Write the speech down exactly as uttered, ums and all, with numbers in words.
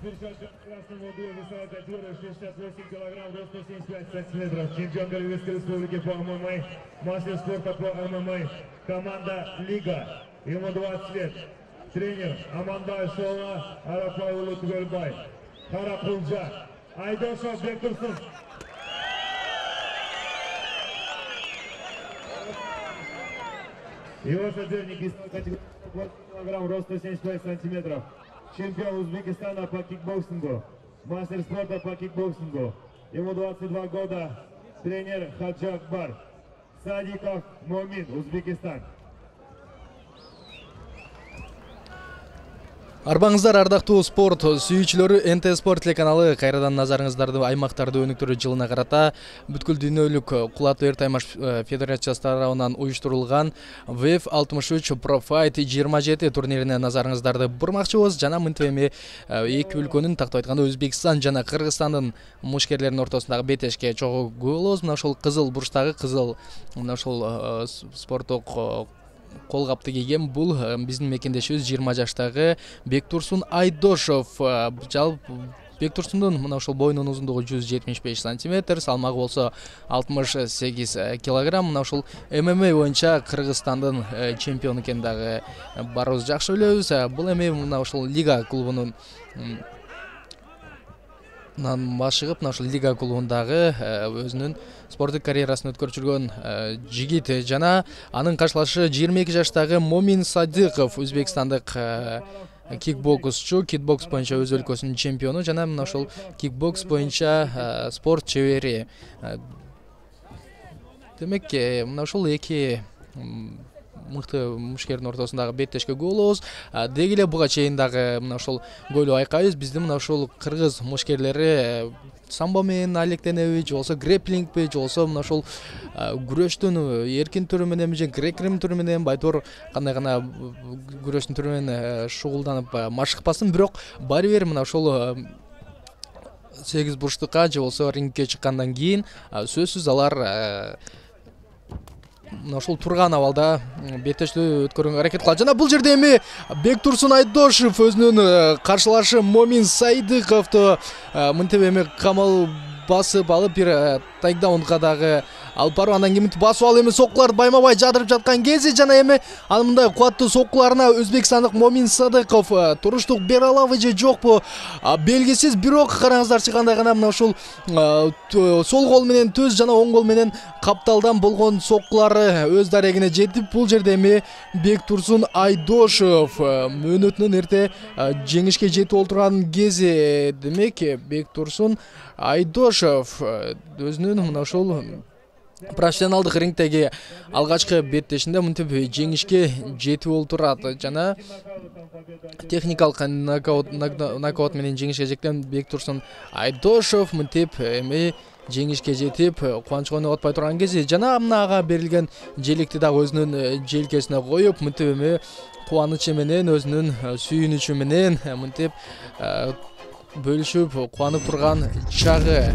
Завершающий красным воду весовая категория шестьдесят восемь килограмм, рост сто семьдесят пять сантиметров. Чемпион Голливудской республики по ММА, мастер спорта по ММА, команда Лига. Ему двадцать лет. Тренер Амандай Шола, Арапаулу Түгөлбай. Харапулжа, Айдошов Бектурсун. Его соперник из категории двадцать килограмм, рост сто семьдесят пять сантиметров. Чемпион Узбекистана по кикбоксингу, мастер спорта по кикбоксингу. Ему двадцать два года. Тренер Хаджи Акбар. Садиков Момин, Узбекистан. Арбаңыздар ардактуу спорт сүйүүчүлөрү, эн тэ спорт телеканалы кайрадан назарыңыздарды аймактарды өнүктүрүү жылына карата бүткүл дүйнөлүк кулаттуу эртаймаш федерациясы тарабынан уюштурулган вэ эф алтымыш үч Pro Fight жыйырма жети турнирине назарыңыздарды бурмакчыбыз. Жана мынтип эми эки өлкөнүн тактап айтканда Өзбекстан жана Кыргызстандын мушкерлеринин ортосундагы бетешке чогуу болобуз. Мына ошол кызыл бурчтагы кызыл мына ошол спорттук колгапты кийген бул биздин мекендешибиз жыйырма жаштагы Бектурсун Айдошов. Жалпы Бектурсундун мына ошол боюнун узундугу жүз жетимиш беш сантиметр, салмагы болсо алтымыш сегиз килограмм. Мына ошол эм эм а боюнча Кыргызстандын чемпиону экенин дагы баарыбыз жакшы билебиз. Бул эми мына ошол Лига клубунун башыгып, мына ошол Лига клубундагы өзүнүн спорттук карьерасын өткөрүп жүргөн жигит жана анын каршылашы жыйырма эки жаштагы Момин Садыков, өзбекстандык кикбоксчу, кикбокс боюнча өз өлкөсүнүн чемпиону жана мына ошол кикбокс боюнча спорт чебери. Демек, мына ошол эки мыкты мушкердин ортосундагы беттешке болобуз. Деги эле буга чейин дагы мына ошол гойлуу айкайбыз. Биздин мына ошол кыргыз мушкерлери самбо менен алектенеби, же болсо грэплингби, же болсо мына ошол күрөштүн эркин түрү менен, же грек-рим түрү менен, байтор кандай гана күрөштүн түрү менен шугулданып машыкпасын, бирок баары бир мына ошол сегиз бурчтукка же болсо рингке чыккандан кийин сөзсүз алар мына ошол турган абалда беттештүү өткөрүүгө аракет кылат. Жана бул жерде эми Бектурсун Айдошов өзүнүн каршылашы Момин Садыковду мынтип эми камал басып алып бир тайкдаунга дагы алып барып, андан кийин басып алып эми соккуларды байма-бай жадырып жаткан кези жана эми анын мындай кубаттуу соккуларына өзбекстандык Момин Садыков туруштук бере алабы же жокпу белгисиз. Бирок караңыздарчы, кандай гана мына ошол сол кол менен төз жана оң кол менен капталдан болгон соккулары өз дарегине жетип, бул жерде эми Бектурсун Айдошов мөөнөтүнөн эрте жеңишке жетип олтурган кези. Демек, Бектурсун Айдошов өзүнүн мына ошол профессионалдык рингдеги алгачкы беттешинде мынтип жеңишке жетип олтурат жана техникалык нокаут нокаут менен жеңишке жеткен Бектурсун Айдошов мынтип эми жеңишке жетип кубанычка ойноготпой атпай турган кези жана мына ага берилген желекти дагы өзүнүн желкесине коюп мынтип эми кубанычы менен, өзүнүн сүйүнүчү менен мынтип бөлүшүп кубанып турган чагы.